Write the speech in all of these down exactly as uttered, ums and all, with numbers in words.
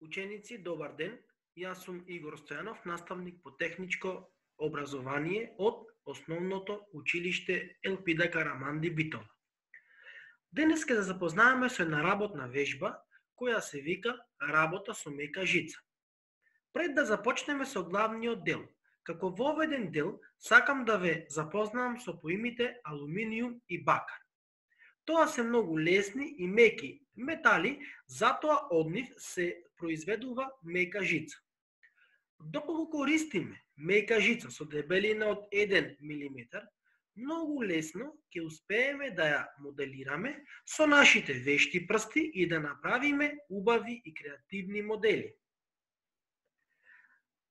Ученици, добар ден. Јас сум Игор Стојанов, наставник по техничко образование од Основното училиште Елпида Караманди Битола. Денес ќе се запознаеме со една работна вежба која се вика работа со мека жица. Пред да започнеме со главниот дел, како воведен дел сакам да ве запознавам со поимите алуминиум и бакар. Тоа се многу лесни и меки метали, затоа од нив се произведува мека жица. Доколку користиме мека жица со дебелина од еден милиметар, многу лесно ќе успееме да ја моделираме со нашите вешти прсти и да направиме убави и креативни модели.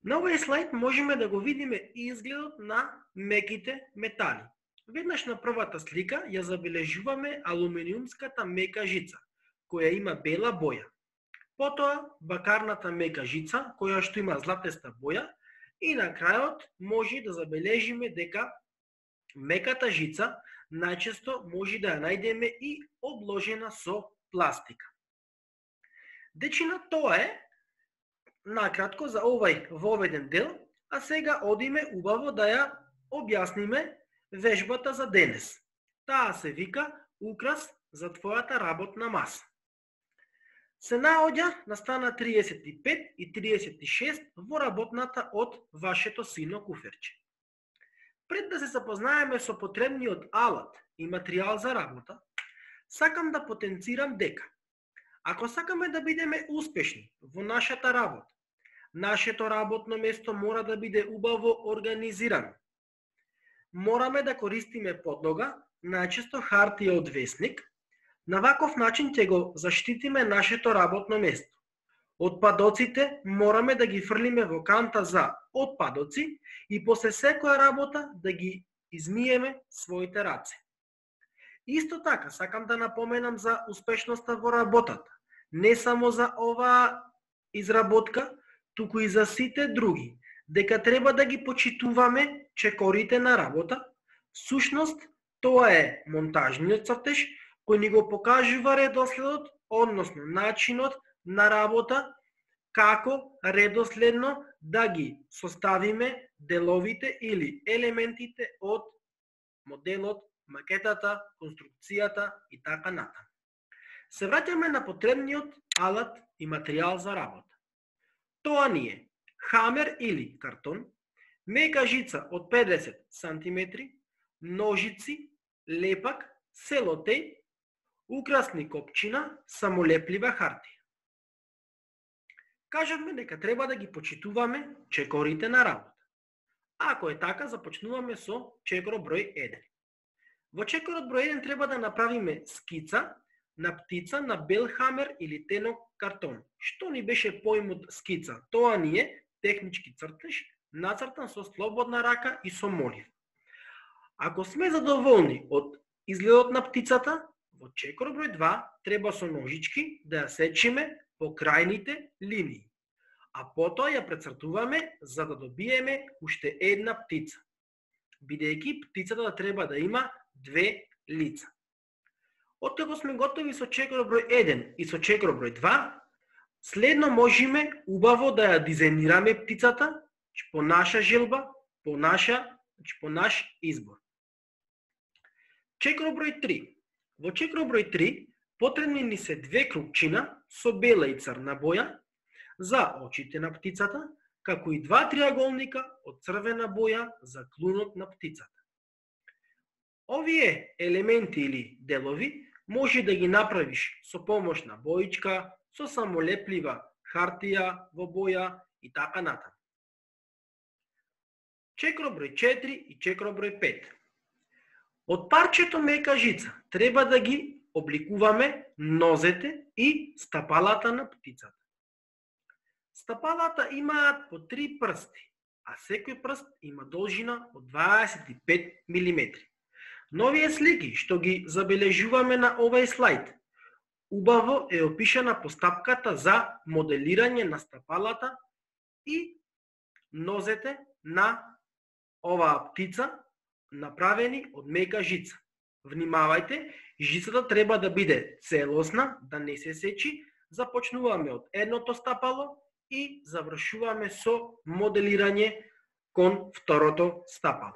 На овој слайд можеме да го видиме изгледот на меките метали. Веднаш на првата слика ја забележуваме алуминиумската мека жица, која има бела боја. Потоа бакарната мека жица, која што има златеста боја, и на крајот може да забележиме дека меката жица најчесто може да ја најдеме и обложена со пластика. Дечина тоа е накратко за овај воведен дел, а сега одиме убаво да ја објасниме вежбата за денес. Таа се вика украс за твојата работна маса. Се наоѓа на стана триесет и пет и триесет и шест во работната од вашето сино куферче. Пред да се запознаеме со потребниот алат и материјал за работа, сакам да потенцирам дека ако сакаме да бидеме успешни во нашата работа, нашето работно место мора да биде убаво организирано. Мораме да користиме подлога, најчесто хартија од весник. На ваков начин ќе го заштитиме нашето работно место. Отпадоците мораме да ги фрлиме во канта за отпадоци и после секоја работа да ги измиеме своите раце. Исто така сакам да напоменам за успешноста во работата. Не само за оваа изработка, туку и за сите други, дека треба да ги почитуваме чекорите на работа. Всушност, тоа е монтажниот цртеж кој ни го покажува редоследот, односно начинот на работа, како редоследно да ги составиме деловите или елементите од моделот, макетата, конструкцијата и така натаму. Се враќаме на потребниот алат и материјал за работа. Тоа ни е хамер или картон, мека жица од педесет сантиметри, ножици, лепак, селотејп, украсни копчина, самолеплива хартија. Кажавме дека треба да ги почитуваме чекорите на работа. Ако е така, започнуваме со чекор број еден. Во чекорот број еден треба да направиме скица на птица на бел хамер или тенок картон. Што ни беше поимот скица? Тоа ни е технички цртеж, нацртан со слободна рака и со молив. Ако сме задоволни од изгледот на птицата, во чекор број два треба со ножички да ја сечиме по крајните линии, а потоа ја прецртуваме за да добиеме уште една птица, бидејќи птицата да треба да има две лица. Откако сме готови со чекор број еден и со чекор број два, следно можеме убаво да ја дизајнираме птицата по наша желба, по наша, по наш избор. Чекор број три. Во чекор број три потребни ни се две крупчина со бела и црна боја за очите на птицата, како и два триаголника од црвена боја за клунот на птицата. Овие елементи или делови може да ги направиш со помош на боичка, со самолеплива хартија во боја и така натаму. Чекор број четири и чекор број пет. Од парчето мека жица треба да ги обликуваме нозете и стапалата на птицата. Стапалата имаат по три прсти, а секој прст има должина од дваесет и пет милиметри. На овие слики што ги забележуваме на овај слайд, убаво е опишана постапката за моделирање на стапалата и нозете на оваа птица, направени од мека жица. Внимавајте, жицата треба да биде целосна, да не се сечи, започнуваме од едното стапало и завршуваме со моделирање кон второто стапало.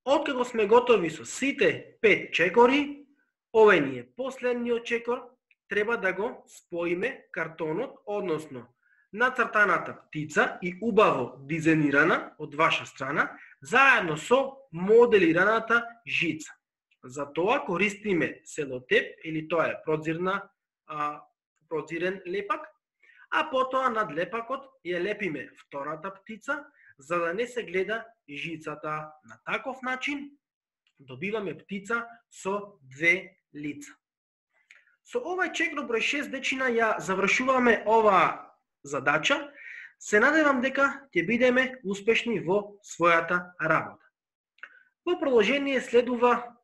Откако сме готови со сите пет чекори, овој ни е последниот чекор, треба да го споиме картонот, односно нацртаната птица и убаво дизајнирана од ваша страна, заедно со моделираната жица. За тоа користиме селотеп или тоа е прозирна, а, прозирен лепак, а потоа над лепакот ја лепиме втората птица, за да не се гледа жицата. На таков начин добиваме птица со две лица. Со овај чекор број шест дечина ја завршуваме оваа задача. Се надевам дека ќе бидеме успешни во својата работа. Во продолжение следува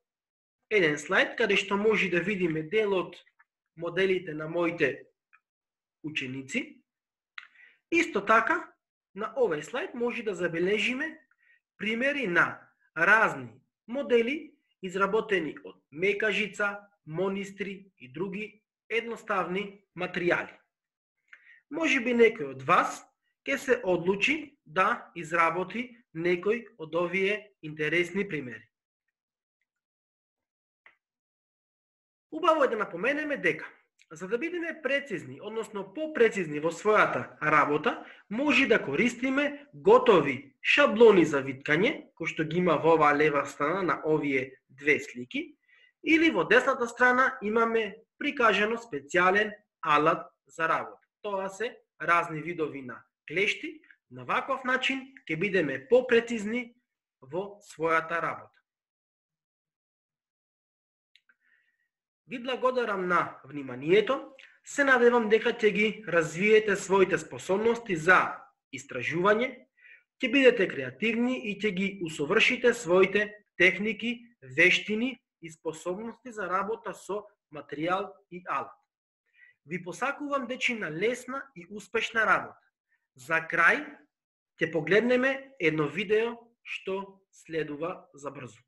еден слайд каде што може да видиме дел од моделите на моите ученици. Исто така, на овој слайд може да забележиме примери на разни модели изработени од мека жица, монистри и други едноставни материјали. Може би некој од вас ќе се одлучи да изработи некој од овие интересни примери. Убаво е да напоменеме дека, за да бидеме прецизни, односно попрецизни во својата работа, може да користиме готови шаблони за виткање, кои што ги има во оваа лева страна на овие две слики, или во десната страна имаме прикажано специјален алат за работа. Тоа се разни видови на клешти. На ваков начин ќе бидеме попрецизни во својата работа. Ви благодарам на вниманието. Се надевам дека ќе ги развиете своите способности за истражување, ќе бидете креативни и ќе ги усовршите своите техники, вештини и способности за работа со материјал и алат. Ви посакувам дечина лесна и успешна работа. За крај ќе погледнеме едно видео што следува за брзо.